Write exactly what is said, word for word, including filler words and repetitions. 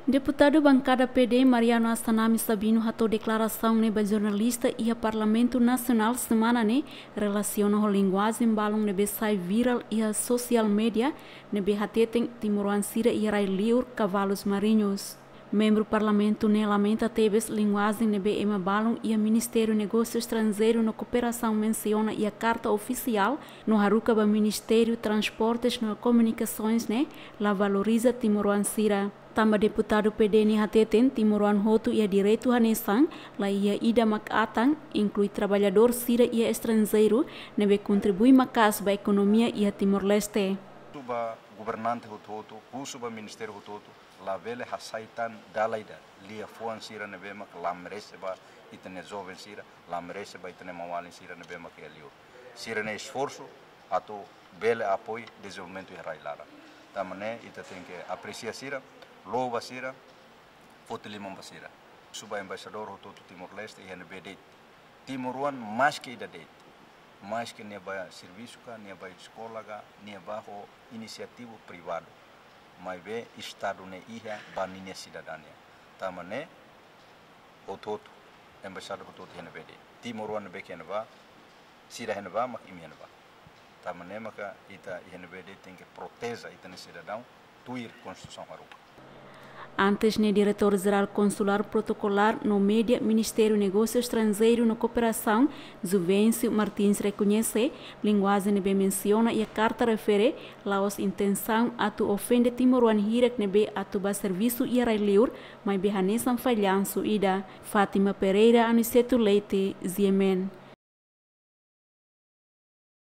Deputadu bankada P D Mariano Assanami Sabino hato'o deklarasaun ne'e ba jornalista iha Parlamentu Nasionál semana ne'e relasiona ho linguajen balun ne'ebé sai virál iha sosiál média ne'ebé hateten timoroan sira iha rai-liur kavalos mariñus. Membru Parlamentu ne'e lamenta tebes linguajen ne'ebé ema balun iha Ministériu Negósiu Estranjeiru no Kooperasaun mensiona iha karta ofisiál no haruka ba Ministériu Transportes no Komunikasoens ne'e la valoriza timoroan sira. Tanba deputadu P D ne'e hateten timoroan hotu iha direitu hanesan, laiha ida mak atan, inklui traballadór sira iha estranjeiru ne'ebé kontribui maka'as ba ekonomia iha Timor-Leste. Husu ba governante hotu-hotu, husu ba ministériu hotu-hotu, labele hasai tan dala ida, liafuan sira ne'ebé mak la merese ba ita-nia joven sira, la merese ba ita-nia maun-alin sira ne'ebé mak iha liur. Sira-nia esforsu atu bele apoiu dezenvolvimentu iha rai-laran. Tanba ne'e ita tenke apresia sira, louva sira, foti liman ba sira. Husu ba embaixadór hotu-hotu Timor-Leste iha ne'ebé de'it. Timoroan maske ida de'it. Maske nia ba servisu ka, nia ba eskola ka, nia ba ho inisiativa privadu. Maibé Estadu ne'e iha ba ninia sidadaun nian. Tanba ne'e hotu-hotu, embaixada hotu-hotu iha ne'ebé de'it. Timoroan ne'ebé ke iha ne'ebá, sira iha ne'ebá, mak imi iha ne'ebá. Tanba ne'e maka ita iha ne'ebé de'it tenke proteje ita-nia sidadaun, tuir Konstituisaun haruka. Antes ne'e Diretór Jerál Konsulár Protokolár no Média Ministériu Negósiu Estranjeiru no Kooperasaun, Juvencio Martins rekoñese, linguajen ne'ebé mensiona iha karta refere, la'ós intensaun atu ofende timoroan hirak ne'ebé atu ba servisu iha rai-liur, maibé hanesan fallansu ida. Fátima Pereira, Aniceto Leite, G M N.